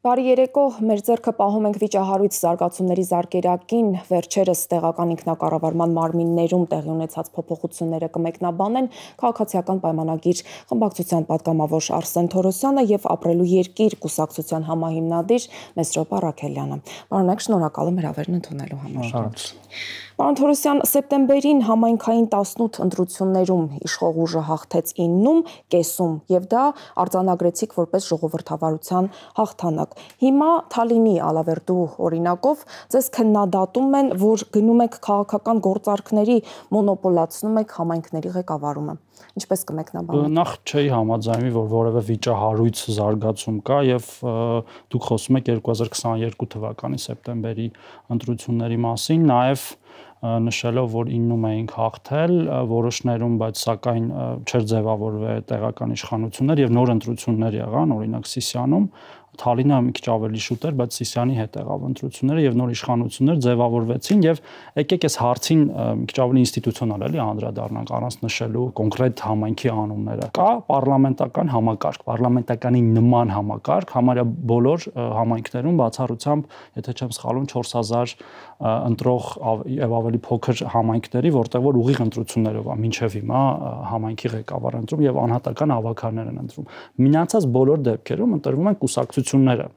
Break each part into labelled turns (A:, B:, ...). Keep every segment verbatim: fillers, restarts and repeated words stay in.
A: Բարի երեկո, մեր ձեռքը պահում ենք վիճահարույց զարգացումների զարկերակին, վերջերս տեղական ինքնակառավարման մարմիններում տեղի ունեցած փոփոխությունները կմեկնաբանեն քաղաքացիական պայմանագիր խմբակցության պատգամավոր Արսեն Թորոսյանը եւ Ապրելու երկիր կուսակցության համահիմնադիր Մեսրոպ Առաքելյանը։ Պարոնեք, շնորհակալ եմ հրավերն ընդունելու համար։ Պարոն Թորոսյան, սեպտեմբերին համայնքային տասնութ ընտրություններում իշխող ուժը հաղթեց իննում, կեսում եւ դա արձանագրեցիք որպես ժողովրդավարության հաղթանակ։ Հիմա Թալինի Ալավերդու օրինակով ձեզ քննադատում են, որ գնում եք քաղաքական գործարքների, մոնոպոլացնում եք համայնքների ղեկավարումը։ Ինչպես կմեկնաբանեք։
B: Նախ չի համաձայնվի, որ որևէ վիճահարույց զարգացում կա եւ դուք խոսում եք երկու հազար քսաներկու թվականի սեպտեմբերի ընտրությունների մասին, նաեւ նշելով, որ իննում էինք հաղթել, որոշներում, բայց սակայն չէր ձևավորվել տեղական իշխանություններ եւ նոր ընտրություններ եղան, օրինակ Սիսիանում, Թալինը մի քիչ ավելի շուտ էր, բայց Սիսիանի հետ եղավ ընտրությունները եւ նոր իշխանություններ ձևավորվեցին եւ եկեք այս հարցին մի քիչ ավելի ինստիտուցիոնալ էլի անդրադառնանք առանց նշելու կոնկրետ համայնքի անունները։ Կա պարլամենտական համակարգ, պարլամենտականի նման համակարգ, համարյա բոլոր համայնքներում բացառությամբ, եթե չեմ սխալվում, չորս հազար ընտրող եւ ավելի փոքր համայնքների, որտեղ որ ուղիղ ընտրություններով է մինչեւ հիմա համայնքի ղեկավար ընտրում եւ անհատական հավաքարներ են ընտրում։ Մնացած բոլոր դեպքերում ընտրվում են կուսակցությունները։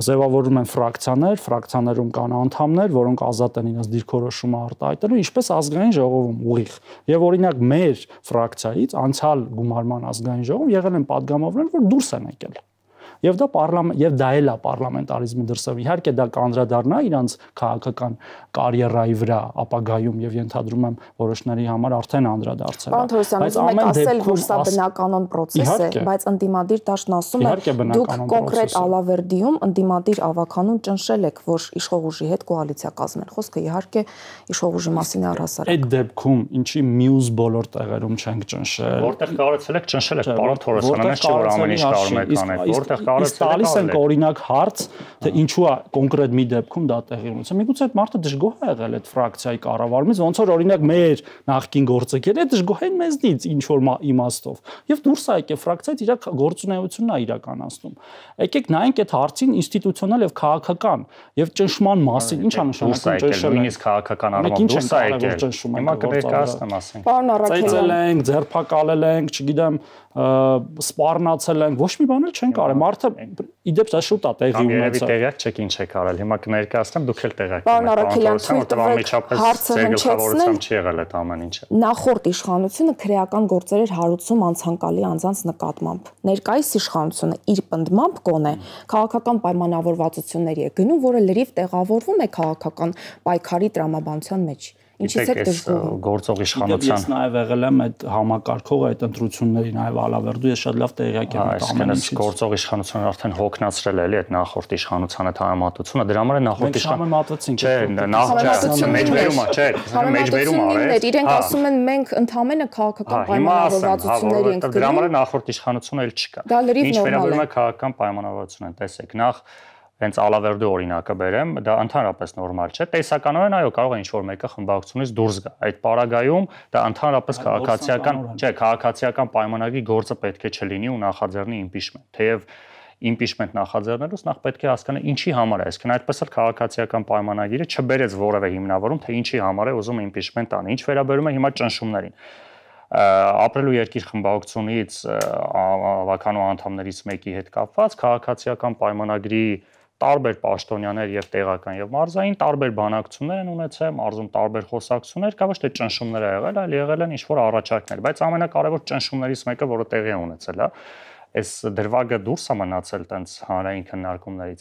B: Ձևավորվում են ֆրակցիաներ, ֆրակցիաներում կան անդամներ, որոնք ազատ են իրենց դիրքորոշումը արտահայտելու, ինչպես ազգային ժողովում ուղիղ։ Եվ օրինակ մեր ֆրակցիայից անցյալ գումարման ազգային ժողովում եղել են падգամավորներ, որ դուրս են եկել։ Եվ դա պարլամենտ եւ դա էլ է պարլամենտարիզմի դրսեւ։ Իհարկե դա կանդրադառնա իրանց քաղաքական կարիերայի վրա ապագայում եւ ենթադրում եմ որոշների համար արդեն անդրադարձել։
A: Պարոն Թորոսյան, ուզում եք ասել, որ սա բնականon process է, բայց ընդդիմադիր դաշտն ասում է, դուք կոնկրետ Ալավերդիում ընդդիմադիր ավականուն ճնշել եք, որ իշխող ուժի հետ կոալիցիա կազմեն։ Խոսքը իհարկե իշխող ուժի մասին է առհասարակ։
B: Այդ դեպքում ինչի մյուս բոլոր տեղերում չենք ճնշել։
C: Որտեղ կարողացել եք ճնշել եք, պարոն Թորոսյան, ամեն ինչ որ ամեն ինչ կարող եք անել, որտեղ
B: Իսկ տալիս ենք օրինակ հարց, թե ինչու է կոնկրետ մի դեպքում դա տեղի ունեցել։ Միգուցե այդ մարդը դժգոհ է եղել այդ ֆրակցիայի կառավարումից, ոնց որ օրինակ մեր նախկին գործընկերները դժգոհ են մեզնից ինչ որ իմաստով։ Եվ դուրս է եկել ֆրակցիայից իր գործունեությունն է իրականացնում։ Եկեք նայենք այդ հարցին ինստիտուցիոնալ եւ քաղաքական եւ ճնշման մասին, ինչ է նշանակում
C: ճնշել։ Նույնիսկ քաղաքական առումով դուրս է եկել։ Հիմա կներկայացնեմ, ասենք։
A: Պարոն Առաքելյան,
B: ծեծել ենք, ձերբակալել ենք, չգիտեմ, սպառնացել ենք, ոչ մի բան էլ չենք արել։ Մարդը իդեպ դա շուտ է տեղի ունեցել։
C: Տեղյակ չեք ինչ եք արել։ Հիմա կներկայացնեմ, դուք էլ տեղյակ եք։
A: Պարոն Առաքելյան, հարցը հնչեցնեմ
C: չի եղել այդ ամեն ինչը։
A: Նախորդ իշխանությունը քրեական գործեր էր հարուցում անցանկալի անձանց նկատմամբ։ Ներկայիս իշխանությունը իր պնդմամբ կոնե քաղաքական պայմանավորվածությունների է գնում, որը լրիվ տեղավորվում է քաղաքական պայքարի տրամաբանության մեջ։ Ինչից է դժգոհում
C: գործող իշխանության։
B: Ես նաև եղել եմ այդ համակարգողը, այդ ընտրությունների նաև Ալավերդու, ես շատ լավ տեղյակ եմ այդ ամեն ինչից։
C: Գործող իշխանությունը արդեն հոգնածրել է էլի այդ նախորդ իշխանության այդ համեմատությունը, դրա համար է նախորդ
B: իշխանությունը։
C: Չէ, նախ մեջբերումը, չէ, մեջբերում արել։
A: Իրենք ասում են մենք ընդհանրապես քաղաքական պայմանավորվածությունների ենք գնում։
C: Դրա համար է նախորդ իշխանությունը էլ չկա։ Ինչ վերաբերում է քաղաքական պայմանավորվածություններին, տեսեք, նախ հենց Ալավերդու օրինակը բերեմ, դա ընդհանրապես նորմալ չէ։ Տեսականորեն այո, կարող է ինչ-որ մեկը խմբակցությունից դուրս գա։ Այդ պարագայում դա ընդհանրապես քաղաքացիական, չէ, քաղաքացիական պայմանագրի գործը պետք է չլինի ու նախաձեռնի իմպիչմենտ։ Թեև իմպիչմենտ նախաձեռնելուց նախ պետք է հասկանալ ինչի համար է, այսինքն այդպես էլ քաղաքացիական պայմանագիրը չբերեց որևէ հիմնավորում, թե ինչի համար է ուզում իմպիչմենտ անի։ Ինչ վերաբերում է հիմա ճնշումներին։ Ապրելու երկիր խմբակցությունից ավականու անդամներից մեկի հետ կապված քաղաքացիական պայմանագրի տարբեր պաշտոնյաներ եւ տեղական եւ մարզային տարբեր բանակցություններ են ունեցել, մարզում տարբեր խոսակցություններ, կա ոչ թե ճնշումներ ա եղել, այլ եղել են ինչ-որ առաջարկներ, բայց ամենակարևոր ճնշումներից մեկը, որը տեղի է ունեցել, հա, այս դրվագը դուրս է մնացել տենց հանրային քննարկումներից։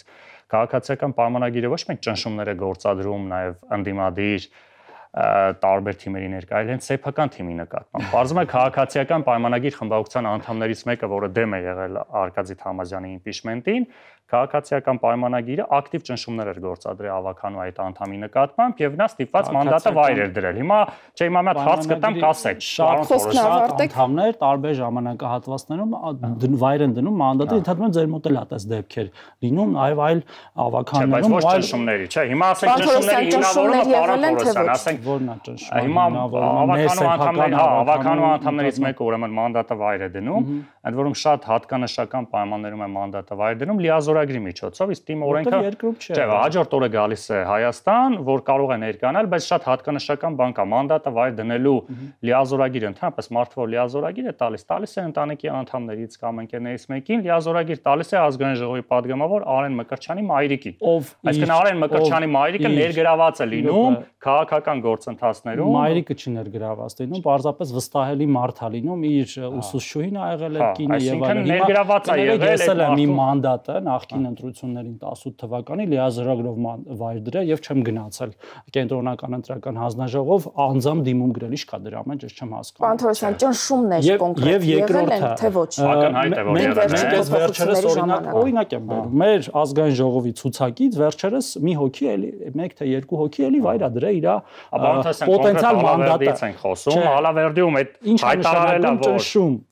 C: Քաղաքացիական պայմանագիրը ոչ միայն ճնշումներ է գործադրում, նաեւ ընդդիմադիր տարբեր թիմերի ներկա, այլ հենց սեփական թիմի նկատմամբ։ Պարզվում է քաղաքացիական պայմանագիր խմբակցության անդամներից մեկը, որը դեմ է եղել Արկադի Թամազյանի իմպիչմենտին, քաղաքացիական պայմանագիրը ակտիվ ճնշումներ էր գործադրել ավականու այդ անդամի նկատմամբ եւ նա ստիպված մանդատը վայր էր դրել։ Հիմա չէ, հիմա մի հատ հարց կտամ, կասեք։
B: Շատ անդամներ տարբեր ժամանակահատվածներում վայր են դնում մանդատը, ընդհանրապես ձեր մոտ էլ ատես դեպքեր լինում, այլ այլ ավականներում,
C: այլ ճնշումների, չէ, հիմա ասենք ճնշումների հիմնավորումը պարոն Թորոսյան, ասենք
B: որն է ճնշումը։
C: Հիմա ավականու անդամներ, հա, ավականու անդամներից մեկը ուրեմն մանդատը վայր է դնում, ընդ որում շատ հատկանշական պայմաններում է մանդատը վայր դնում լիազորագրի միջոցով, իսկ թիմը օրենքը չէ, հաջորդ օրը գալիս է Հայաստան, որ կարող է ներկանալ, բայց շատ հատկանշական բան կա, մանդատը վայր դնելու լիազորագիրը, ընդհանրապես մարդը որ լիազորագիր է տալիս, տալիս է ընտանիքի անդամներից կամ ընկերներից մեկին, լիազորագիր տալիս է ազգային ժողովի падգամավոր Արեն Մկրտչյանի մայրիկին։ Այսինքն Արեն Մկրտչյանի մայրիկը ներգրաված է լինում քաղաքական գործընթացներում։
B: Մայրիկը չի ներգրաված լինում, պարզապես վստահելի մարդ է լինում, իր ուսուցչուհին ա եղել է կինը եւ այլն։
C: Ներգրաված է եղել
B: է մի մանդատը նախկին ընտրություններին տասութ թվականի լիազորագրով վայր դրել եւ չեմ գնացել կենտրոնական ընտրական հանձնաժողով անձամբ դիմում գրել, ի՞նչ կա դրա մեջ, ես չեմ հասկանում։
A: Պարոն Թորոսյան, ճնշումներ կոնկրետ եղել են թե ոչ։
C: Ակնհայտ է որ եղել է։
B: Մենք վերջերս օրինակ օրինակ եմ բերում։ Մեր ազգային ժողովի ցուցակից վերջերս մի հոգի էլի, մեկ թե երկու հոգի էլի վայր ա դրել իր
C: պոտենցիալ մանդատից են խոսում, Ալավերդիում այդ հայտարարելա որ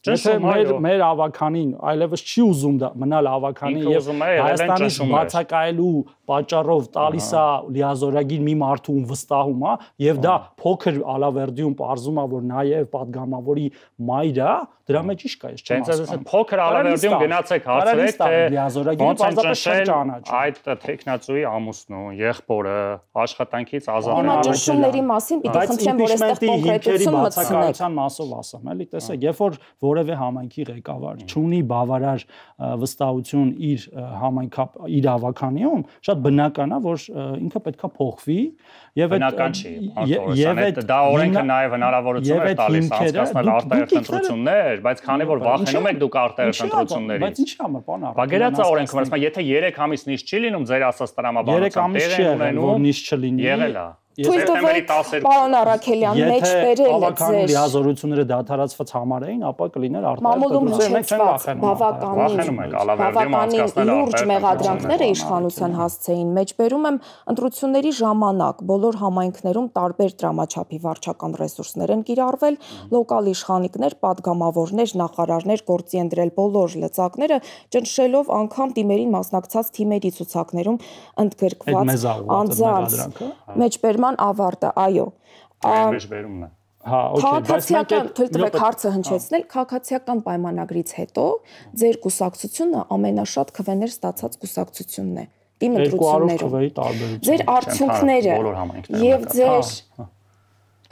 B: Եթե մեր մեր ավականին այլևս չի ուզում դա մնալ ավականի եւ Հայաստանից բացակայելու պատճառով տալիս է լիազորագիր մի մարդու վստահում է եւ դա փոքր Ալավերդիում պարզում է որ նաեւ падգամավորի մայր է, դրա մեջ ի՞նչ կա, ես չեմ
C: հասկանում։ Փոքր Ալավերդիում գնացեք հարցրեք թե
B: լիազորագիրը պարզապես չեն ճանաչում։
C: Այդ տեխնացուի ամուսնու, եղբորը աշխատանքից ազատվել։
A: Հիմա ճնշումների մասին պիտի խնդրեմ որ այստեղ կոնկրետություն մտցնեք։
B: Մասով ասեմ, էլի տեսեք, երբ որ որևէ համայնքի ղեկավար չունի բավարար վստահություն իր համայնքա իր ավականիում, շատ բնական է, որ ինքը պետքա փոխվի եւ այդ
C: բնական չի, եւ դա օրենքը նաեւ հնարավորություն է տալիս անցկացնել արտահերթ ընտրություններ, բայց քանի որ վախենում եք դուք արտահերթ ընտրություններից։
B: Բայց ինչի՞ համար, պարոն Արարատյան։
C: Բա գերացա օրենքը, ասում է, եթե երեք ամիս նիշ չի լինում ձեր ասած տրամաբանությամբ տեղ ունենում,
B: որ նիշ չլինի։
C: Եղել է։
A: Թույլ տվեք պարոն Առաքելյան մեջ բերել
B: ձեր լիազորությունները դադարացված համարային, ապա կլիներ
A: արտահայտություն։ Բավականին լուրջ մեղադրանքները իշխանության հասցեին մեջբերում եմ ընտրությունների ժամանակ բոլոր համայնքներում տարբեր դրամաչափի վարչական ռեսուրսներ են կիրառվել, լոկալ իշխանիկներ, падգամավորներ, նախարարներ գործի են դրել բոլոր լծակները, ճնշելով անգամ թիմերին մասնակցած թիմերի ցուցակներում ընդգրկված անձանց մեջբերման ավարտը, այո։
C: Մեջբերումն է։
B: Հա, օքեյ,
A: բայց մենք թույլ տվեք հարցը հնչեցնել, քաղաքացիական պայմանագրից հետո ձեր կուսակցությունը ամենաշատ քվեներ ստացած կուսակցությունն է։ Թիմ ընտրություններում։ Ձեր արդյունքները եւ ձեր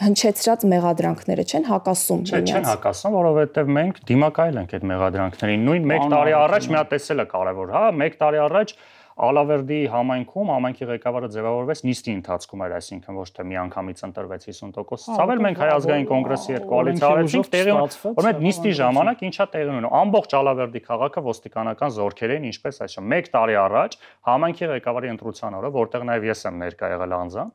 A: հնչեցրած մեղադրանքները չեն հակասում։
C: Չեն հակասում, որովհետև մենք դիմակայել ենք այդ մեղադրանքներին։ Նույն մեկ տարի առաջ մի հատ տեսել է կարևոր, հա, մեկ տարի առաջ Ալավերդի համայնքում համայնքի ղեկավարը ձևավորվեց նիստի ընթացքում էր, այսինքն ոչ թե միանգամից ընտրվեց հիսուն տոկոս ցավել, մենք Հայ ազգային կոնգրեսի հետ կոալիցիա արեցինք, տեղի որ այդ նիստի ժամանակ ինչա տեղի ունենում, ամբողջ Ալավերդի քաղաքը ոստիկանական զորքեր էին, ինչպես այսօր մեկ տարի առաջ համայնքի ղեկավարի ընտրության օրը, որտեղ նաև ես եմ ներկա եղել անձամբ,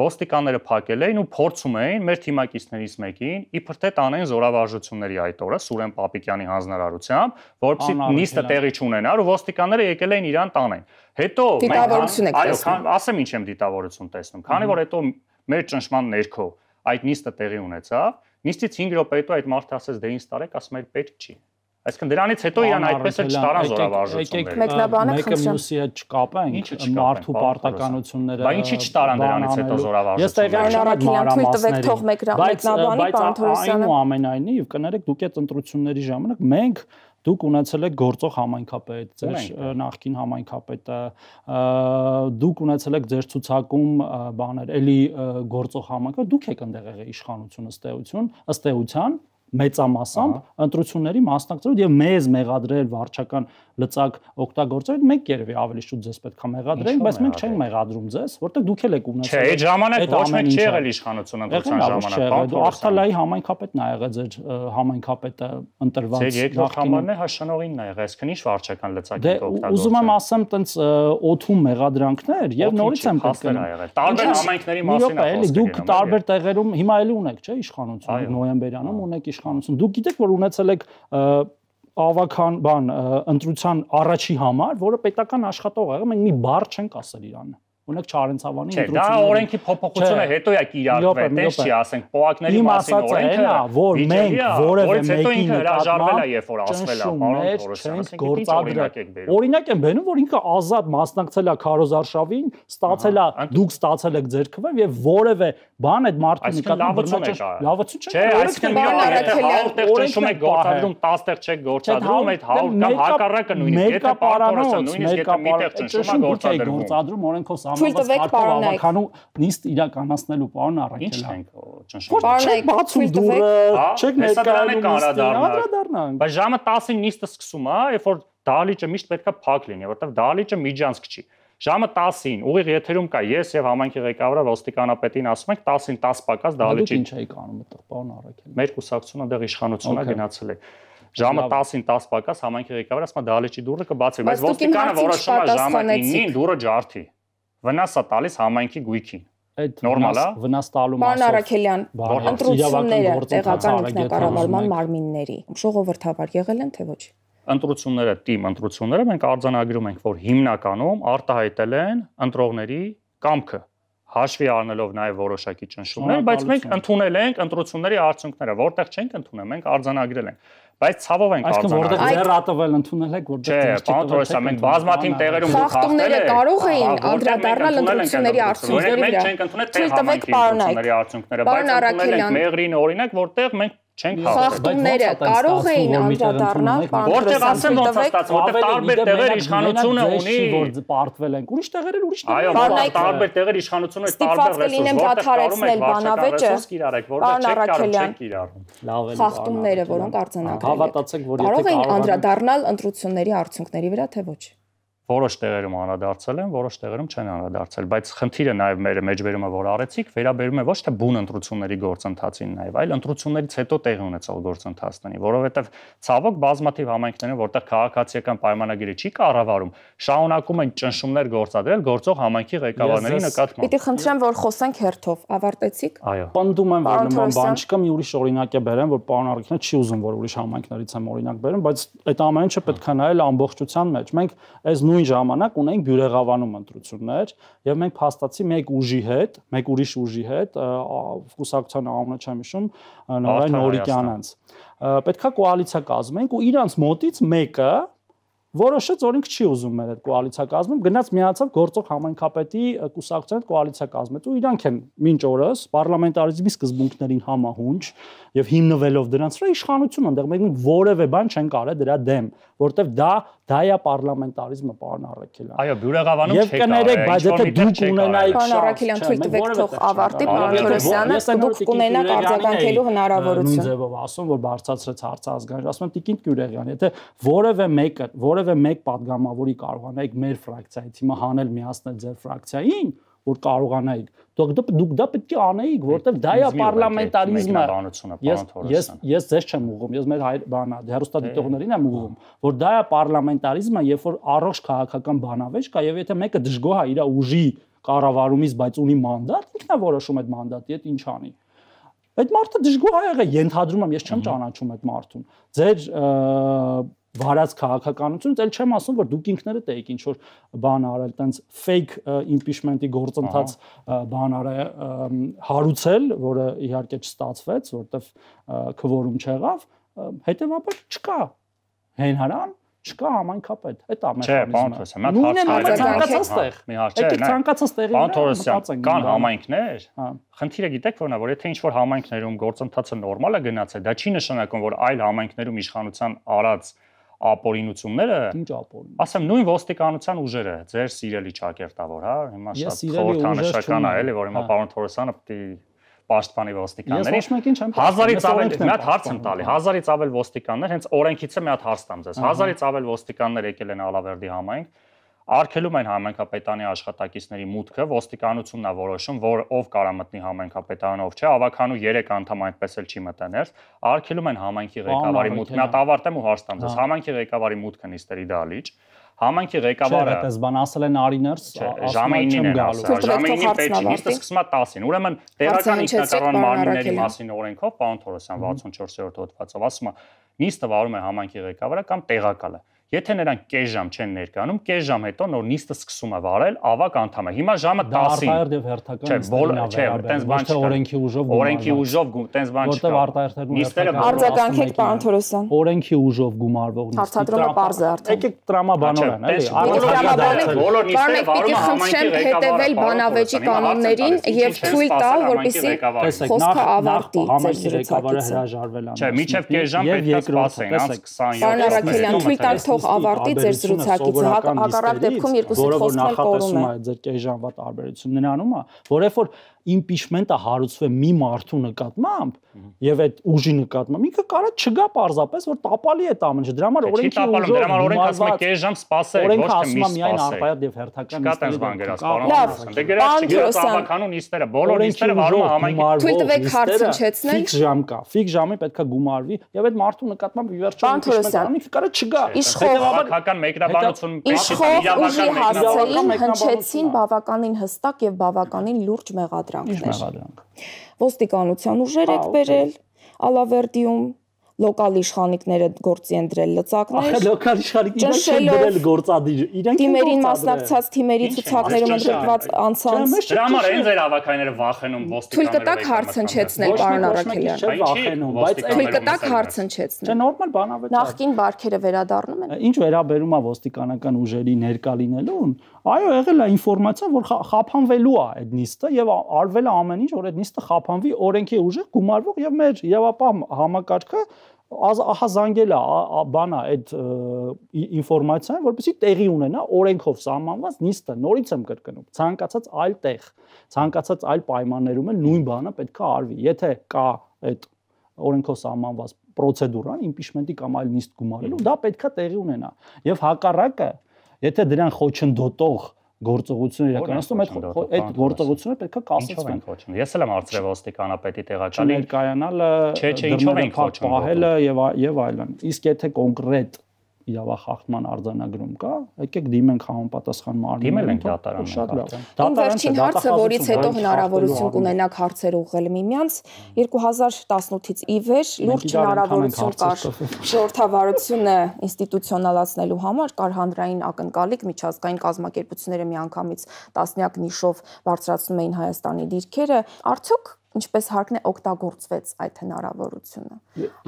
C: ոստիկանները փակել էին ու փորձում էին մեր թիմակիցներից մեկին իբր թե տանեն զորավարժությունների այդ օրը Սուրեն Պապիկյանի հանձնարարությամբ, որովհետեւ նիստը տեղի չունենար ու ոստիկանները եկել էին իրան տանեն։ Հետո
A: մենք
C: այո, ասեմ ինչ եմ դիտավորություն տեսնում, քանի որ հետո մեր ճնշման ներքո այդ նիստը տեղի ունեցավ, նիստից հինգ րոպե հետո այդ մարդը ասեց դե ինձ տարեք, ասում էր պետք չի։ Այսինքն դրանից հետո իրան այդպես էլ չտարան զորավարժությունները։
A: Մեկնաբանը
B: մեկը մյուսի հետ չկապենք մարդու պարտականությունները։
C: Բա ինչի չտարան դրանից հետո
B: զորավարժությունները։
A: Ես տեղյակ եմ, թող մեկնաբանի պարոն Թորոսյանը։
B: Այնուամենայնիվ կներեք դուք այդ ընտրությունների ժամանակ մենք դուք ունեցել եք գործող համայնքապետ, ձեր նախկին համայնքապետը, դուք ունեցել եք ձեր ցուցակում բաներ, էլի գործող համայնքապետ, դուք եք այնտեղ եղել իշխանություն ըստ էության, ըստ էության մեծամասամբ ընտրությունների մասնակցել եւ մեզ մեղադրել վարչական լծակ օգտագործել, մենք երևի ավելի շուտ ձեզ պետք է մեղադրենք, բայց մենք չենք մեղադրում ձեզ, որտեղ դուք էլ եք ունեցել։
C: Չէ, այդ ժամանակ ոչ մեկ չի եղել իշխանություն ընտրության ժամանակ։
B: Ախտալայի համայնքապետն ա եղել ձեր համայնքապետը ընտրված։
C: Ձեր երկրորդ համարն է հաշանողինն ա եղել, այսինքն ինչ վարչական լծակ եք օգտագործել։
B: Ուզում եմ ասեմ, տենց օթում մեղադրանքներ եւ նորից եմ
C: պատկերում։ Տարբեր համայնքների մասին է խոսքը։
B: Դուք տարբեր տեղերում հիմա էլի ունեք, չէ, իշխանություն, նոյեմբերյանում ունեք իշխանություն։ Դուք գիտեք, որ ունեցել եք ավական բան ընտրության առաջի համար, որը պետական աշխատող եղել, մենք մի բառ չենք ասել իրան։ Օրինակ Չարենցավանի
C: ընտրությունները։ Դա օրենքի փոփոխությունը հետո է կիրառվել, դες չի ասենք, պոակների մասին օրենքը,
B: որ մենք որևէ մեկի
C: հրաժարվել է, երբ որ ասվել է, պարոն Թորոսյան, ասենք
B: գործադրել։ Օրինակ եմ բերում, որ ինքը ազատ մասնակցել է քարոզարշավին, ստացել է, դուք ստացել եք ձեր քվեն եւ որևէ բան այդ մարդու նկատմամբ լավություն
C: չէ։ Չէ, այսինքն հազար տեղ ճնշում եք գործադրում, տասը տեղ չեք գործադրում, այդ հարյուր կամ հակառակը նույնիսկ, եթե պարոն Թորոսյան նույնիսկ եթե մի տեղ ճնշում է
B: գործադրում, օրենքով ավականու նիստ իրականացնելու պարոն Առաքելյան։
C: Չենք
B: բացում դուրը, չեք ներկայանում
C: անդրադառնանք։ Բայց ժամը տասին նիստը սկսում է, երբ որ դահլիճը միշտ պետքա փակ լինի, որովհետև դահլիճը միջանցք չի։ Ժամը տասին ուղիղ եթերում կա ես եւ համայնքի ղեկավարը ոստիկանապետին ասում ենք տասին տասը պակաս դահլիճի։
B: Ինչ էիք անում այդտեղ պարոն Առաքելյան։
C: Մեր կուսակցությունը դեռ իշխանությունա գնացել է։ Ժամը տասին տասը պակաս համայնքի ղեկավարը ասում է դահլիճի դուռը կբացվի, բայց ոստիկանը որոշում է ժամը ինին դուռը ջարդի։ Վնաս է տալիս համայնքի գույքին։
B: Այդ
C: նորմալ է։
B: Վնաս տալու մասով։
A: Պարոն Առաքելյան, ընտրությունները տեղական ինքնակառավարման մարմինների ժողովրդավար եղել են թե ոչ։
C: Ընտրությունները, թիմ ընտրությունները մենք արձանագրում ենք, որ հիմնականում արտահայտել են ընտրողների կամքը, հաշվի առնելով նաև որոշակի ճնշումներ, բայց մենք ընդունել ենք ընտրությունների արդյունքները, որտեղ չենք ընդունել, մենք արձանագրել ենք։ Բայց ցավով ենք
B: արձանագրել։ Այսինքն որտեղ ձեռատվել ընդունել եք, որտեղ
C: չէ, պարոն Թորոսյան, մենք բազմաթիվ տեղերում դուք
A: խախտումները կարող էին անդրադառնալ ընտրությունների արդյունքների վրա։
C: Մենք չենք ընդունել թե համայնքի ընտրությունների արդյունքները, բայց ընդունել ենք Մեղրին օրինակ, որտեղ մենք չենք
A: խախտումները կարող էին անդրադառնալ,
C: որտեղ ասեմ ոնց է ստացվում, որտեղ տարբեր տեղեր իշխանությունը ունի,
B: որ պարտվել են, ուրիշ տեղեր էլ ուրիշ
C: տեղեր։ Այո, տարբեր տեղեր իշխանությունը տարբեր ռեսուրս,
A: դադարեցնել բանավեճը,
C: պարոն Առաքելյան,
A: խախտումները, որոնք արձանագրել
B: Հավատացեք, որ եթե
A: կարող էին անդրադառնալ ընտրությունների արդյունքների վրա, թե ոչ։
C: Որոշ տեղերում անդրադարձել են, որոշ տեղերում չեն անդրադարձել, բայց խնդիրը նաև մեր մեջբերումը, որ արեցիք, վերաբերում է ոչ թե բուն ընտրությունների գործընթացին նաև, այլ ընտրություններից հետո տեղի ունեցող գործընթացներին, որովհետև ցավոք բազմաթիվ համայնքներում, որտեղ քաղաքացիական պայմանագիրը չի կառավարում, շարունակում են ճնշումներ գործադրել գործող համայնքի ղեկավարների նկատմամբ։
A: Պիտի խնդրեմ, որ խոսենք հերթով, ավարտեցիք։
C: Այո։
B: Պնդում եմ, որ նման բան չկա, մի ուրիշ օրինակ է բերեմ, որ պարոն Առաքելյանը չի ուզում, որ ուրիշ համայնքներից եմ օրինակ բերեմ, բայց այդ ամեն ինչը պետք է նայել ամբողջության մեջ։ Մենք այս նույն ժամանակ ունենք Բյուրեղավանում ընտրություններ եւ մենք փաստացի մեկ ուժի հետ, մեկ ուրիշ ուժի հետ, կուսակցության անունը չեմ հիշում, Նորայր Նորիկյանից։ Պետքա կոալիցիա կազմենք ու իրանց մոտից մեկը որոշեց, որ ինքը չի ուզում մեր այդ կոալիցիա կազմում, գնաց միացավ գործող համայնքապետի կուսակցության հետ կոալիցիա կազմեց ու իրանք են մինչ օրս պարլամենտարիզմի սկզբունքներին համահունչ եւ հիմնվելով դրանց վրա իշխանություն ընդեղ մենք որևէ բան չենք արել դրա դեմ, որտեվ դա դա է պարլամենտարիզմը, պարոն Առաքելյան։
C: Այո, Բյուրեղավանում
B: չեք արել, բայց եթե դուք ունենայիք
A: պարոն Առաքելյան, թույլ տվեք թող ավարտի, պարոն Թորոսյանը, դուք կունենաք արձագանքելու հնարավորություն։
B: Նույն ձևով ասում, որ բարձրացրեց հարցազգան, ասում եմ Տիկին Գյուրեղյան, եթե որևէ մեկը, որևէ մեկ падգամավորի կարողանայիք մեր ֆրակցիայից հիմա հանել միացնել ձեր ֆրակցիային, որ կարողանայիք, դուք դուք դա պետք է անեիք, որտեվ դա է պարլամենտարիզմը։ Ես ես ես ձեզ չեմ ուղղում, ես մեր բանա հերոստատիտողներին եմ ուղղում, որ դա է պարլամենտարիզմը, երբ որ առողջ քաղաքական բանավեճ կա եւ եթե մեկը դժգոհ է իր ուժի կառավարումից, բայց ունի մանդատ, ինքն է որոշում այդ մանդատի հետ ինչ անի։ Այդ մարդը դժգոհ է եղել, ենթադրում եմ, ես չեմ ճանաչում այդ մարդուն։ Ձեր վարած քաղաքականությունից էլ չեմ ասում, որ դուք ինքներդ եք ինչ որ բան արել, տենց fake impeachment-ի գործընթաց բան արել, հարուցել, որը իհարկե չստացվեց, որտեվ քվորում չեղավ, հետեւաբար չկա հենհարան, չկա համայնքապետ, այդ է մեխանիզմը։
C: Նույնն
B: է ցանկացած տեղ։
C: Մի հարց չէ,
B: ցանկացած տեղի
C: վրա։ Պարոն Թորոսյան, կան համայնքներ։ Խնդիրը գիտեք որն է, որ եթե ինչ-որ համայնքներում գործընթացը նորմալ է գնացել, դա չի նշանակում, որ այլ համայնքներում իշխանության արած ապօրինությունները,
B: ինչ ապօրին։
C: Ասեմ նույն ոստիկանության ուժերը, ձեր սիրելի ճակերտավոր, հա, հիմա շատ խորհրդանշական է, էլի, որ հիմա պարոն Թորոսյանը պետք է պաշտպանի ոստիկաններին։ Հազարից ավել մի հատ հարց եմ տալի, հազարից ավել ոստիկաններ, հենց օրենքից է մի հատ հարց տամ ձեզ։ Հազարից ավել ոստիկաններ եկել են Ալավերդի համայնք, արգելում են համայնքապետանի աշխատակիցների մուտքը, ոստիկանությունն է որոշում, որ ով կարա մտնի համայնքապետարան, ով չէ, ավականու երեք անդամ այնպես էլ չի մտնել, արգելում են համայնքի ղեկավարի մուտքը, մի հատ ավարտեմ ու հարց տամ ձեզ, համայնքի ղեկավարի մուտքը նիստերի դահլիճ, համայնքի ղեկավարը
B: Չէ, բան ասել են Արիներս,
C: ժամը ինին են ասել, ժամը ինին պետք չի, նիստը սկսում է տասին, ուրեմն տեղական ինքնակառավարման մարմինների մասին օրենքով, պարոն Թորոսյան վաթսունչորսերորդ հոդվածով ասում է, նիստը վարում է համայնքի ղեկավարը կամ տեղակալը։ Եթե նրանք կես ժամ չեն ներկայանում, կես ժամ հետո նոր նիստը սկսում է վարել, ավակ անդամ է։ Հիմա ժամը տասին։
B: Դա արտահերթ եւ հերթական
C: չէ, տենց բան չկա։
B: Օրենքի ուժով
C: օրենքի ուժով տենց բան չկա։
B: Որտեղ արտահերթերն ու հերթական
A: արձագանքեք, պարոն Թորոսյան։
B: Օրենքի ուժով գումարվող նիստը։
A: Հարցադրումը պարզ է արդեն։
B: Եկեք տրամաբանորեն, էլի։
C: Բոլոր նիստերը վարում է համայնքի
A: հետևել բանավեճի կանոններին եւ թույլ տալ, որպեսզի խոսքը ավարտի ձեր
B: ղեկավարը հրաժարվել է։
C: Չէ, միջև կես ժամ պետք է սպասեն, անց քսաներկու։
A: Պարոն Արաքելյան, թույլ տալ թող ավարտի ձեր զրուցակիցը, հակառակ դեպքում երկուսի խոսքն էլ կորում է։
B: Ձեր կես ժամվա տարբերությունն անում է, որ երբ որ impeachment-ը հարուցվում է մի մարդու նկատմամբ եւ այդ ուժի նկատմամբ ինքը կարա չգա պարզապես որ տապալի է ամենը դրա համար օրենքի ուժով
C: դրա համար օրենքը ասում է կես ժամ սպասեք ոչ թե մի
B: միայն արտահերթ եւ հերթական
C: նիստերի դե գրած չգրած ավականու նիստերը բոլոր նիստերը վարում է համայնքի
A: թույլ տվեք հարց հնչեցնել
B: ֆիքս ժամ կա ֆիքս ժամի պետքա գումարվի եւ այդ մարդու նկատմամբ վերջում impeachment-ը կարա չգա
C: հետեւաբար մեկնաբանություն
A: իրավական հարցերին հնչեցին բավականին հստակ եւ բավականին լուրջ մեղադրանքներ ոստիկանության ուժեր եք բերել Ալավերդիում լոկալ իշխանիկները գործի են դրել լծակներ
B: ախր լոկալ իշխանիկները չեն դրել գործադիր իրենք
A: թիմերին մասնակցած թիմերի ցուցակներում ընդգրկված անցանց
C: դրա համար են ձեր ավականները վախենում ոստիկանները
A: թույլ կտակ հարց հնչեցնել պարոն Արաքելյան
B: վախենում բայց
A: թույլ կտակ հարց հնչեցնել
B: չէ նորմալ բանավեճ
A: նախկին բարքերը վերադառնում են
B: ինչ վերաբերում է ոստիկանական ուժերի ներկա լինելուն այո եղել է ինֆորմացիա որ խափանվելու է այդ նիստը եւ արվել է ամեն ինչ որ այդ նիստը խափանվի օրենքի ուժը գումարվող եւ մեր իրավապահ համակարգը ահա զանգել է բանա այդ ինֆորմացիան որպեսզի տեղի ունենա օրենքով սահմանված նիստը նորից եմ կրկնում ցանկացած այլ տեղ ցանկացած այլ պայմաններում էլ նույն բանը պետք է արվի եթե կա այդ օրենքով սահմանված պրոցեդուրան impeachment-ի կամ այլ նիստ գումարելու դա պետք է տեղի ունենա եւ հակառակը եթե դրան խոչընդոտող գործողություն իրականացնում այդ այդ գործողությունը պետք է կասեցվեն
C: ես էլ եմ արծրել ոստիկանապետի տեղակալի
B: ներկայանալը
C: չէ չէ ինչով են խոչընդոտում
B: պահելը եւ եւ այլն իսկ եթե կոնկրետ իրավախախտման արձանագրում կա, եկեք դիմենք համապատասխան մարմիններին։
C: Դիմել ենք դատարանին։
B: Շատ լավ։
A: Իմ վերջին հարցը, որից հետո հնարավորություն կունենաք հարցեր ուղղել միմյանց, երկու հազար տասնութից ի վեր լուրջ հնարավորություն կար ժողովրդավարությունը ինստիտուցիոնալացնելու համար, կար հանրային ակնկալիք, միջազգային կազմակերպությունները միանգամից տասնյակ նիշով բարձրացնում էին Հայաստանի դիրքերը, արդյոք ինչպես հարկն է օգտագործվեց այդ հնարավորությունը։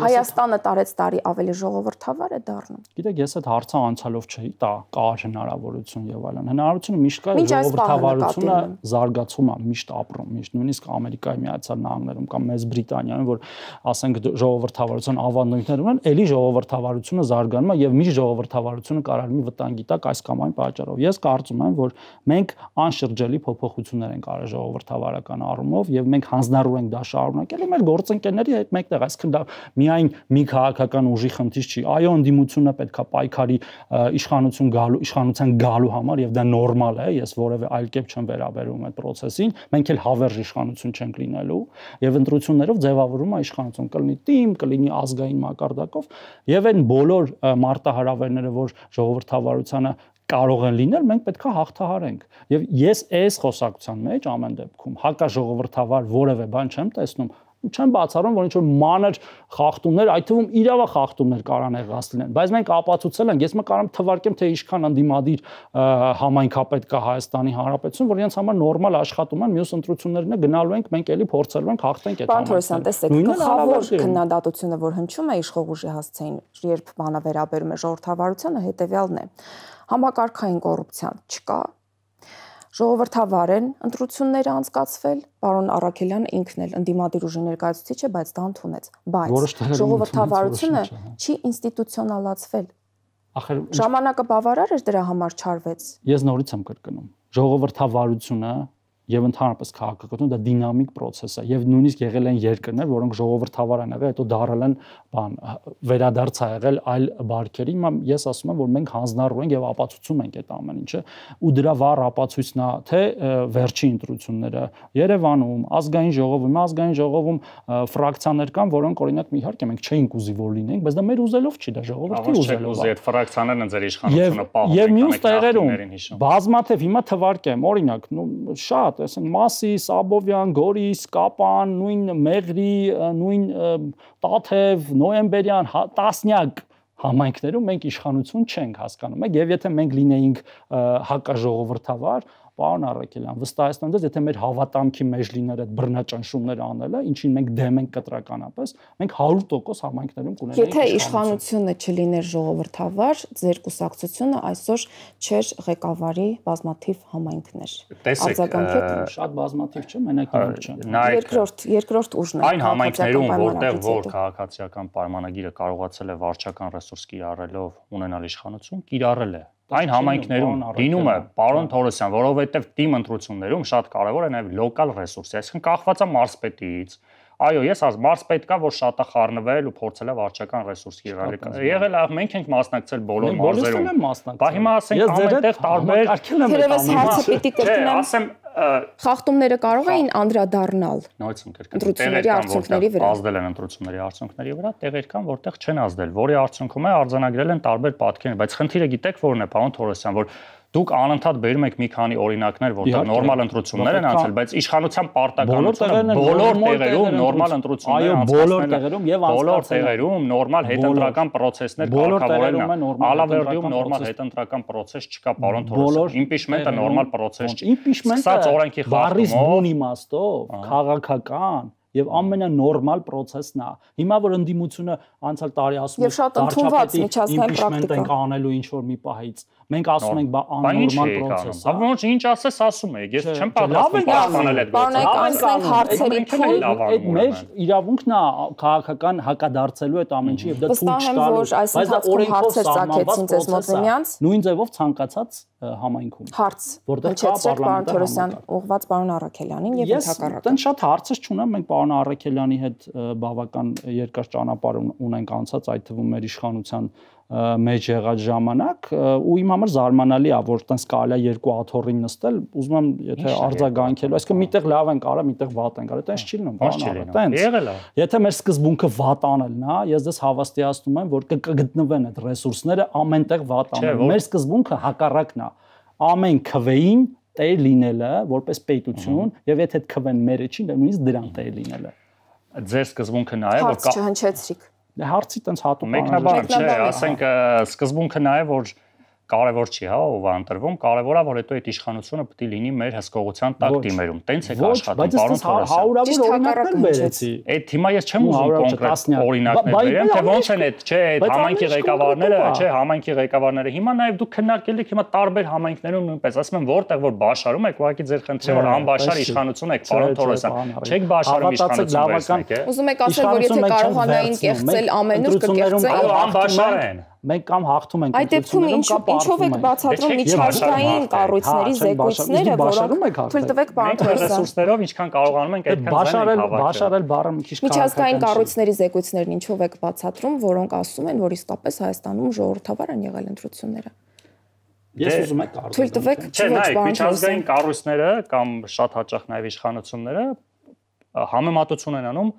A: Հայաստանը տարեց տարի ավելի ժողովրդավար է դառնում։
B: Գիտեք, ես այդ հարցը անցյալով չէի տա, կար հնարավորություն եւ այլն։ Հնարավորությունը միշտ կա, ժողովրդավարությունը զարգացում է, միշտ ապրում, միշտ նույնիսկ Ամերիկայի Միացյալ Նահանգներում կամ Մեծ Բրիտանիայում, որ ասենք ժողովրդավարության ավանդույթներ ունեն, ելի ժողովրդավարությունը զարգանում է եւ միշտ ժողովրդավարությունը կարող է վտանգի տակ այս կամ այն պատճառով։ Ես կարծում եմ, որ մենք անշրջելի փոփոխություններ ենք արել ժողովրդավարական առումով եւ մենք հանձնառու ենք դա շարունակել ու մեր գործընկերների հետ մեկտեղ, այսինքն դա միայն մի քաղաքական ուժի խնդիր չի։ Այո, ընդդիմությունը պետքա պայքարի իշխանություն գալու, իշխանության գալու համար եւ դա նորմալ է, ես որևէ այլ կերպ չեմ վերաբերվում այդ process-ին։ Մենք էլ հավերժ իշխանություն չենք լինելու եւ ընտրություններով ձևավորվում է իշխանություն, կլինի թիմ, կլինի ազգային մակարդակով եւ այն բոլոր մարտահրավերները, որ ժողովրդավարությանը կարող են լինել, մենք պետք է հաղթահարենք։ Եվ ես այս խոսակցության մեջ ամեն դեպքում հակաժողովրդավար որևէ բան չեմ տեսնում, չեմ բացառում, որ ինչ-որ մանր խախտումներ, այդ թվում իրավա խախտումներ կարան եղած լինեն, բայց մենք ապացուցել ենք, ես մը կարամ թվարկեմ, թե ինչքան ընդդիմադիր համայնքապետ կա Հայաստանի Հանրապետություն, որ իրենց համար նորմալ աշխատում են, մյուս ընտրություններն գնալու ենք, մենք էլի փորձելու ենք հաղթենք այդ
A: ամենը։ Պարոն Թորոսյան, տեսեք, գլխավոր քննադատությունը, որ հնչում է իշխող ուժի հասցեին, երբ բանը վերաբերում է ժողովրդավարությանը, հետեւյալն է. համակարգային կոռուպցիան չկա, ժողովրդավար են ընտրությունները անցկացվել, պարոն Արաքելյանը ինքն էլ ընդդիմադիր ուժի ներկայացուցիչ է, բայց դա ընդունեց, բայց ժողովրդավարությունը չի ինստիտուցիոնալացվել։ Ժամանակը բավարար էր դրա համար չարվեց։
B: Ես նորից եմ կրկնում, ժողովրդավարությունը եւ ընդհանրապես քաղաքականությունը դա դինամիկ process է եւ նույնիսկ եղել են երկրներ, որոնք ժողովրդավար են եղել, հետո դարել են բան վերադարձ ա եղել այլ բարքերի։ Ես ասում եմ, որ մենք հանձնառու ենք եւ ապացուցում ենք այդ ամեն ինչը ու դրա վառ ապացույցն է թե վերջի ընտրությունները Երևանում, ազգային ժողովում, ազգային ժողովում ֆրակցիաներ կան, որոնք օրինակ իհարկե մենք չէինք ուզի որ լինենք, բայց դա մեր ուզելով չի, դա ժողովրդի ուզելով է։
C: Այդ ֆրակցիաներն են ձեր իշխանությունը պահում։
B: Եվ մյուս տեղերում բազմաթիվ հիմա թվարկեմ, օրինակ, շատ ասենք Մասիս, Աբովյան, Գորիս, Կապան, նույն Մեղրի, նույն Տաթև, Նոյեմբերյան, տասնյակ համայնքներում մենք իշխանություն չենք հասկանում եք եւ եթե մենք լինեինք հակաժողովրդավար Պարոն Առաքելյան, վստահեցնում եմ, եթե մեր հավատամքի մեջ լիներ այդ բռնաճնշումները անելը, ինչին մենք դեմ ենք կտրականապես, մենք հարյուր տոկոս համայնքներում կունենայինք։
A: Եթե իշխանությունը չլիներ ժողովրդավար, ձեր կուսակցությունը այսօր չէր ղեկավարի բազմաթիվ համայնքներ։
C: Արձագանքեք
B: շատ բազմաթիվ չէ, մենակ իմ չեմ։
A: Երկրորդ, երկրորդ ուժն է։
C: Այն համայնքներում, որտեղ որ քաղաքացիական պայմանագիրը կարողացել է վարչական ռեսուրս կիրառելով ունենալ իշխանություն, կիրառել է։ Այն համայնքներում լինում է պարոն Թորոսյան, որովհետև թիմ ընտրություններում շատ կարևոր է նաև լոկալ ռեսուրսը, այսինքն կախված է մարզպետից։ Այո, ես ասում, մարզպետ կա, որ շատ է խառնվել ու փորձել է վարչական ռեսուրս կիրառել։ Եղել է, մենք ենք մասնակցել բոլոր մարզերում։ Բա հիմա ասենք ամենտեղ տարբեր
A: Թերևս հարցը պիտի կրկնեմ։
C: Ասեմ
A: խախտումները կարող էին անդրադառնալ
C: նույնց կրկնեմ
A: ընտրությունների արդյունքների վրա։
C: Ազդել են ընտրությունների արդյունքների վրա, տեղեր կան, որտեղ չեն ազդել, որի արդյունքում է արձանագրել են տարբեր պատկերներ, բայց խնդիրը գիտեք որն է, պարոն Թորոսյան, որ դուք անընդհատ բերում եք մի քանի օրինակներ, որտեղ նորմալ ընտրություններ են անցել, բայց իշխանության պարտականությունը բոլոր տեղերում նորմալ ընտրություններ
B: այո, բոլոր տեղերում եւ
C: բոլոր տեղերում նորմալ հետընտրական process-ներ կարգավորելն է։ Ալավերդիում նորմալ հետընտրական process չկա, պարոն Թորոսյան։ Իմպիչմենտը նորմալ process չի։
B: Իմպիչմենտը բառից բուն իմաստով քաղաքական եւ ամենանորմալ process-ն է։ Հիմա որ ընդդիմությունը անցյալ տարի ասում
A: է շատ ընդունված միջազգային պրակտիկա
B: ենք անելու ինչ որ մի պահից, մենք ասում ենք բա աննորմալ process է։
C: Ահա ոչ ինչ ասես ասում եք, ես չեմ պատրաստվում պաշտպանել այդ
A: գործը։
B: Այդ մեր իրավունքն է քաղաքական հակադարձելու այդ ամեն ինչի եւ դա թույլ չտալու։
A: Բայց դա օրենքով ծագեցին ձեզ մոտ միմյանց։
B: Նույն ձևով ցանկացած համայնքում։
A: Հարց, որտեղ կա պարոն Թորոսյան, ուղղված պարոն Առաքելյանին եւ ընդհակառակը։
B: Ես դեն շատ հարցեր չունեմ, մենք պարոն Առաքելյանի հետ բավական երկար ճանապարհ ունենք անցած, այդ թվում մեր իշխանության մեջ եղած ժամանակ ու իմ համար զարմանալի է, որ տենց կարելի է երկու աթոռին նստել, ուզում եմ եթե արձագանքելու, այսինքն միտեղ լավ են կարա, միտեղ վատ են կարա, տենց չի լինում, բան տենց։
C: Եղել է։
B: Եթե մեր սկզբունքը վատ անելն է, ես դες հավաստիացնում եմ, որ կգտնվեն այդ ռեսուրսները ամենտեղ վատ անել։ Մեր սկզբունքը հակառակն է։ Ամեն քվեին տեր լինելը, որպես պետություն, եւ եթե այդ քվեն մերը չի, նույնիսկ դրան տեր լինելը։
C: Ձեր սկզբունքը նա է, որ
A: կա չհնչեցրիք։
B: Դե հարցի տենց հատուկ
C: մեկնաբան չէ, ասենք սկզբունքը նա է, որ կարևոր չի, հա, ով է ընտրվում, կարևոր է, որ հետո այդ իշխանությունը պետք է լինի մեր հսկողության տակ դիմերում։ Տենց է աշխատում, պարոն
B: հարյուրավոր օրինակներ բերեցի։
C: Այդ հիմա ես չեմ ուզում կոնկրետ օրինակներ բերեմ, թե ոնց են այդ, չէ, այդ համայնքի ղեկավարները, չէ, համայնքի ղեկավարները։ Հիմա նաև դուք քննարկել եք հիմա տարբեր համայնքներում նույնպես, ասում եմ, որտեղ որ բաշարում եք, ուղղակի ձեր խնդիրը որ անբաշար իշխանություն եք, պարոն Թորոսյան, չեք բաշարում իշխանություն։
A: Ուզում եք ասել, որ եթե կարողանային կեղծել ամեն ուր կկեղծեին,
C: անբաշար են։
B: Մենք կամ հաղթում ենք
A: այդ դեպքում ինչով եք բացատրում միջազգային կառույցների զեկույցները, որոնք թույլ տվեք պարոն Թորոսյան
C: ռեսուրսներով ինչքան կարողանում ենք այդքան
B: բաշարել բաշարել բառը մի քիչ
A: միջազգային կառույցների զեկույցներն ինչով եք բացատրում, որոնք ասում են, որ իսկապես Հայաստանում ժողովրդավար են եղել ընտրությունները։
B: Ես ուզում եմ կարծել։
A: Թույլ տվեք
C: չէ, նայեք, միջազգային կառույցները կամ շատ հաճախ նաև իշխանությունները համեմատություն են անում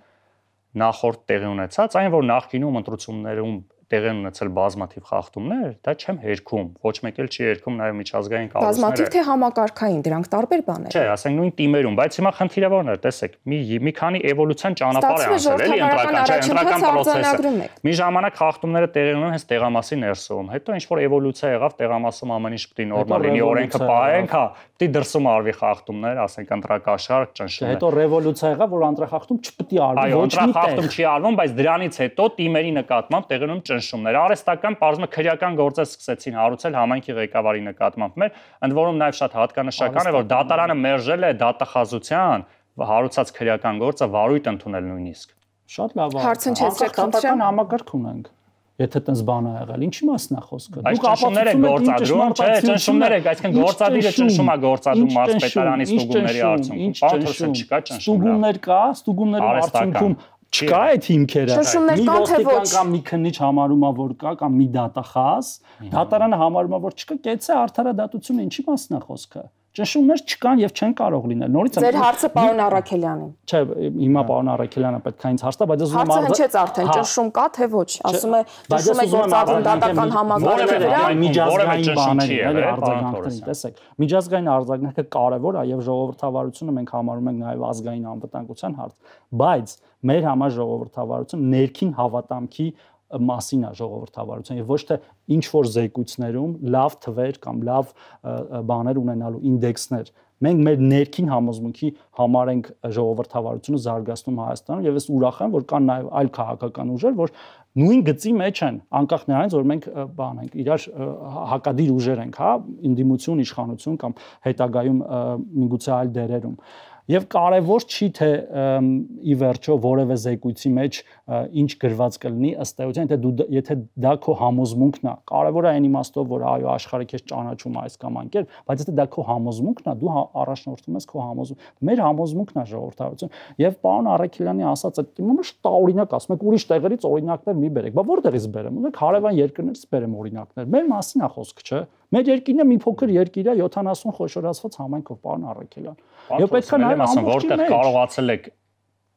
C: նախորդ տեղի ունեցած, այն որ նախկինում ընտրություններում տեղի ունեցել բազմաթիվ խախտումներ, դա չեմ հերքում, ոչ մեկ էլ չի հերքում նաև միջազգային կառույցները։
A: Բազմաթիվ թե համակարգային, դրանք տարբեր բաներ։
C: Չէ, ասենք նույն թիմերում, բայց հիմա խնդիրը որն է, տեսեք, մի մի քանի էվոլյուցիան ճանապարհ է անցել, էլի ընտրական, չէ, ընտրական process-ը։ Մի ժամանակ խախտումները տեղի ունեն հենց տեղամասի ներսում, հետո ինչ որ էվոլյուցիա եղավ տեղամասում ամեն ինչ պետք է նորմալ լինի, օրենքը պահենք, հա, պետք է դրսում արվի խախտումներ, ասենք ընտրակաշար, ճնշումներ։
B: Հետո ռևոլյուցիա եղավ, որ ընտրախախտում չպետք է արվի,
C: ոչ մի տեղ։ Այո, ընտրախախտում չի արվում, բայց դրանից հետո թիմերի նկատմամբ տեղի ունեն ճնշումներ։ Արհեստական բարձր քրեական գործեր սկսեցին հարուցել համայնքի ղեկավարի նկատմամբ մեր, ընդ որում նաև շատ հատկանշական է, որ դատարանը մերժել է դատախազության հարուցած քրեական գործը վարույթ ընդունել նույնիսկ։
B: Շատ լավ է։
A: Հարցընչեցրեք,
B: խնդրեմ, համակարգ ունենք։ Եթե տես բան ա եղել, ինչի մասն է խոսքը։
C: Դուք ապացուցում եք գործադրում, չէ, ճնշումներ եք, այսինքն գործադիրը ճնշում է գործադրում մարզպետարանի ստուգումների արդյունքում։ Պարտոսն չկա ճնշում։
B: Ստուգումներ կա, ստուգումների արդյունքում չկա այդ հիմքերը։
A: Մի ոստիկան
B: կամ մի քննիչ համարում է, որ կա, կամ մի դատախազ, դատարանը համարում է, որ չկա, կեցե արդարադատությունը ինչի մասն է խոսքը։ Ճնշումներ չկան եւ չեն կարող լինել։ Նորից
A: Ձեր հարցը պարոն Առաքելյանին։
B: Չէ, հիմա պարոն Առաքելյանը պետք է ինձ հարց տա, բայց ես ուզում եմ
A: հարցը հնչեց արդեն, ճնշում կա թե ոչ, ասում է, ճնշում է գործադրում դատական համակարգի վրա,
B: միջազգային բաների, էլի արձագանքներին, տեսեք։ Միջազգային արձագանքը կարևոր է եւ ժողովրդավարությունը մենք համարում ենք նաեւ ազգային անվտանգության հարց, բայց մեր համար ժողովրդավարությունը ներքին հավատամքի մասին է ժողովրդավարության եւ ոչ թե ինչ որ զեկույցներում լավ թվեր կամ լավ բաներ ունենալու ինդեքսներ։ Մենք մեր ներքին համոզմունքի համար ենք ժողովրդավարությունը զարգացնում Հայաստանում եւ ես ուրախ եմ, որ կան նաեւ այլ քաղաքական ուժեր, որ նույն գծի մեջ են, անկախ նրանից, որ մենք բան ենք, իրար հակադիր ուժեր ենք, հա, ինդիմություն, իշխանություն կամ հետագայում միգուցե այլ դերերում։ Եվ կարևոր չի թե ի վերջո որևէ զեկույցի մեջ ինչ գրված կլինի ըստ էության, եթե դու եթե դա քո համոզմունքն է, կարևորը այն իմաստով, որ այո աշխարհը քեզ ճանաչում է այս կամ այն կերպ, բայց եթե դա քո համոզմունքն է, դու առաջնորդում ես քո համոզմունքը։ Մեր համոզմունքն է ժողովրդավարություն։ Եվ պարոն Առաքելյանի ասած այդ իմը շտաօրինակ ասում եք, ուրիշ տեղերից օրինակներ մի բերեք։ Բա որտեղից բերեմ։ Ունեք հարևան երկրներից բերեմ օրինակներ։ Մեր մասին է խոսքը, չէ՞։ Մեր երկիրը մի փոքր երկիր է յոթանասուն խոշորացված համայնքով, պարոն Առաքելյան։ Եվ պետք է նայել
C: ասեմ, որտեղ կարողացել եք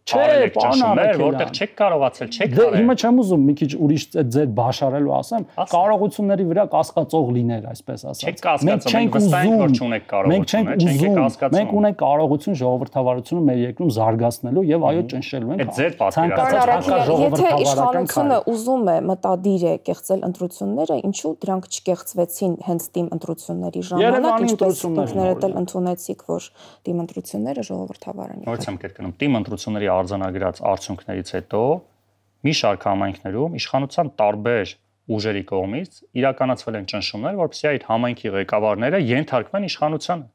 B: Չէ, պարոն Առաքելյան,
C: որտեղ չեք կարողացել, չեք
B: արել։ Դե հիմա չեմ ուզում մի քիչ ուրիշ ձեր բաշարելու ասեմ, կարողությունների վրա կասկածող լիներ, այսպես ասած։
C: Չեք կասկածում, մենք վստահ ենք, որ չունեք կարողություն,
B: չենք կասկածում։ Մենք ունենք կարողություն ժողովրդավարությունը մեր երկրում զարգացնելու եւ այո ճնշելու ենք։
C: Ցանկացած
A: եթե իշխանությունը ուզում է մտադիր է կեղծել ընտրությունները, ինչու դրանք չկեղծվեցին հենց թիմ ընտրությունների ժամանակ, ինչպես ինքներդ էլ ընդունեցիք, որ թիմ ընտրությունները ժողովրդավար են։
C: Նորից եմ կրկնում, թիմ ընտրությունների արձանագրած արդյունքներից հետո մի շարք համայնքներում իշխանության տարբեր ուժերի կողմից իրականացվել են ճնշումներ, որպեսզի այդ համայնքի ղեկավարները ենթարկվեն իշխանությանը,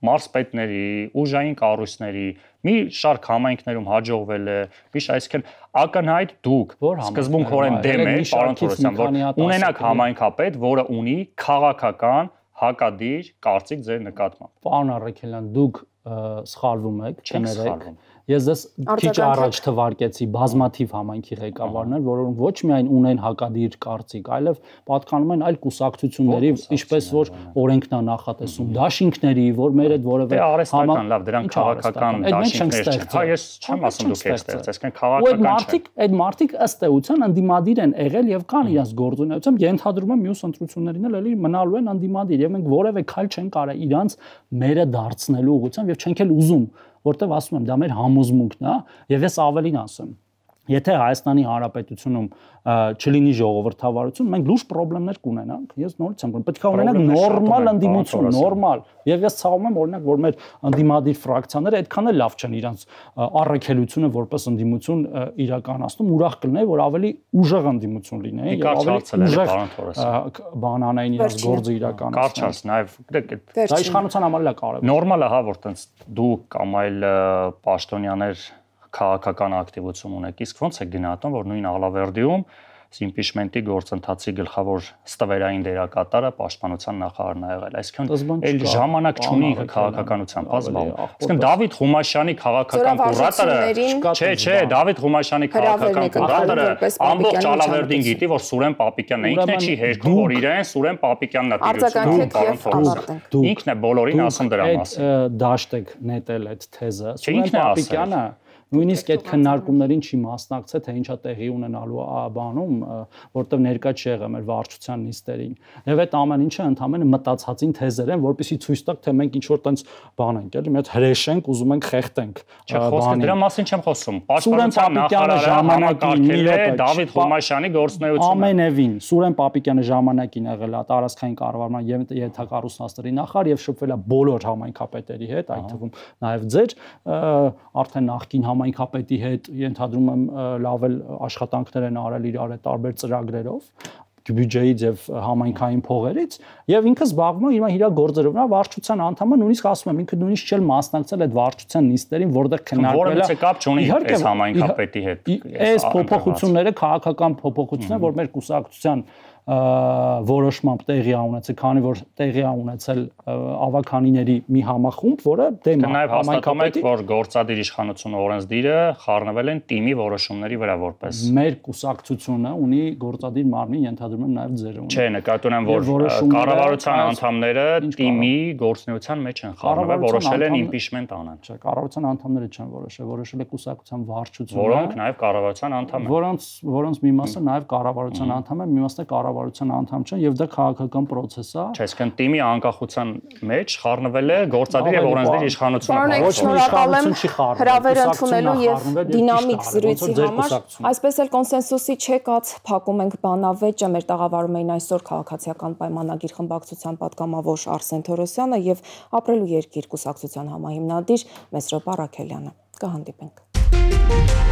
C: մարզպետների, ուժային կառույցների, մի շարք համայնքներում հաջողվել է, միշտ այսինքն ակնհայտ դուք սկզբունքորեն դեմ եք, պարոն Թորոսյան, որ ունենաք համայնքապետ, որը ունի քաղաքական հակադիր կարծիք ձեր նկատմամբ։
B: Պարոն Առաքելյան, դուք սխալվում եք, չներեք։ Ես ես քիչ առաջ թվարկեցի բազմաթիվ համայնքի ղեկավարներ, որոնք ոչ միայն ունեն հակադիր կարծիք, այլև պատկանում են այլ կուսակցությունների, ինչպես որ օրենքն է նախատեսում, դաշինքների, որ մեր այդ որևէ
C: արհեստական, լավ, դրանք քաղաքական դաշինքներ չեն։ Հա, ես չեմ ասում դուք եք ստեղծել, այսինքն քաղաքական չէ։
B: Այդ մարդիկ ըստ էության ընդդիմադիր են եղել եւ կան իրենց գործունեությամբ, ենթադրում եմ մյուս ընտրություններին էլ էլի մնալու են ընդդիմադիր եւ մենք որևէ քայլ չենք կարա իրանց մերը դարձնելու ուղղությամբ եւ չենք էլ ուզում, որտեվ ասում եմ, դա մեր համոզմունքն է, եւ ես ավելին ասեմ, եթե Հայաստանի Հանրապետությունում չլինի ժողովրդավարություն, մենք լուրջ խնդիրներ կունենանք։ Ես նորից եմ говорю, պետք է ունենանք նորմալ ընդդիմություն, նորմալ։ Եվ ես ցավում եմ օրինակ, որ մեր ընդդիմադիր ֆրակցիաները այդքան էլ լավ չեն իրանց առաքելությունը որպես ընդդիմություն իրականացնում, ուրախ կլինեի, որ ավելի ուժեղ ընդդիմություն լինեի
C: եւ ավելի
B: բանանային իրենց գործը իրականացնեն։
C: Կարճ, նաեւ
B: դա իշխանության համար էլ է կարևոր։
C: Նորմալ է, հա, որ տենց դու կամ այլ պաշտոնյաներ քաղաքական ակտիվություն ունեք, իսկ ո՞նց է գնահատում, որ նույն Ալավերդիում իմպիչմենտի գործընթացի գլխավոր ստվերային դերակատարը պաշտպանության նախարարն ա եղել, այսինքն այլ ժամանակ չունի քաղաքականությամբ ազգում։ Այսինքն Դավիթ Ղումաշյանի քաղաքական կուրատորը, չէ, չէ, Դավիթ Ղումաշյանի քաղաքական կուրատորը ամբողջ Ալավերդին գիտի, որ Սուրեն Պապիկյանն է, ինքն է չի հերքում, որ իրեն Սուրեն Պապիկյանն է տիրում։ Ինքն է բոլորին ասում դրա մասին։
B: Դաշտ եք նետել այդ թեզը։ Սուրեն Պապիկյանը նույնիսկ այդ քննարկումներին չի մասնակցել, թե ինչա տեղի ունենալու բանում, որտեղ ներկա չի եղել մեր վարչության նիստերին։ Եվ այդ ամեն ինչը ընդհանրապես մտածածին թեզեր են, որպեսզի ցույց տակ, թե մենք ինչ որ տենց բան ենք, էլի, մի հատ հրեշենք, ուզում ենք խեղտենք։
C: Չէ, խոսքը դրա մասին չեմ խոսում։ Պաշտպանության նախարարը ժամանակին է Դավիթ Ղումաշյանի գործունեությունը։
B: Ամենևին Սուրեն Պապիկյանը ժամանակին եղել է տարածքային կառավարման եւ ենթակառուցվածքների նախարար եւ շփվել է բոլոր համայնքապետերի հետ, այդ թվում նաեւ ձեր արդեն նախկին համայնքապետի հետ ենթադրում եմ լավ էլ աշխատանքներ են արել իրար հետ տարբեր ծրագրերով բյուջեից եւ համայնքային փողերից եւ ինքը զբաղվում է իր իր գործերով նա վարչության անդամը նույնիսկ ասում եմ ինքը նույնիսկ չէ մասնակցել այդ վարչության նիստերին որտեղ քննարկվել
C: է կապ չունի այս համայնքապետի հետ
B: այս փոփոխությունները քաղաքական փոփոխություններ որ մեր կուսակցության որոշմամբ տեղի ա ունեցել, քանի որ տեղի ա ունեցել ավականիների մի համախումբ, որը դեմ
C: է համայնքապետի, որ գործադիր իշխանությունը օրենսդիրը խառնվել են թիմի որոշումների վրա որպես։
B: Մեր կուսակցությունը ունի գործադիր մարմին, ենթադրում եմ նաև ձերը ունի։
C: Չէ, նկատի ունեմ, որ կառավարության անդամները թիմի գործունեության մեջ են խառնվել, որոշել են իմպիչմենտ անեն։
B: Չէ, կառավարության անդամները չեն որոշել, որոշել է կուսակցության վարչությունը,
C: որոնք նաև կառավարության անդամ են։
B: Որոնց որոնց մի մասը նաև կառավարության անդամ են, մի մասը կառավարության կառավարության անդամ չեն եւ դա քաղաքական process է։
C: Չէ, այսինքն թիմի անկախության մեջ խառնվել է գործադիր եւ օրենսդիր իշխանությունը։
A: Ոչ մի իշխանություն չի խառնվել։ Հրավեր ընդունելու եւ դինամիկ զրույցի համար այսպես էլ կոնսենսուսի չեկած փակում ենք բանավեճը, մեր տաղավարում էին այսօր քաղաքացիական պայմանագիր խմբակցության պատգամավոր Արսեն Թորոսյանը եւ Ապրելու երկիր կուսակցության համահիմնադիր Մեսրոպ Առաքելյանը։ Կհանդիպենք։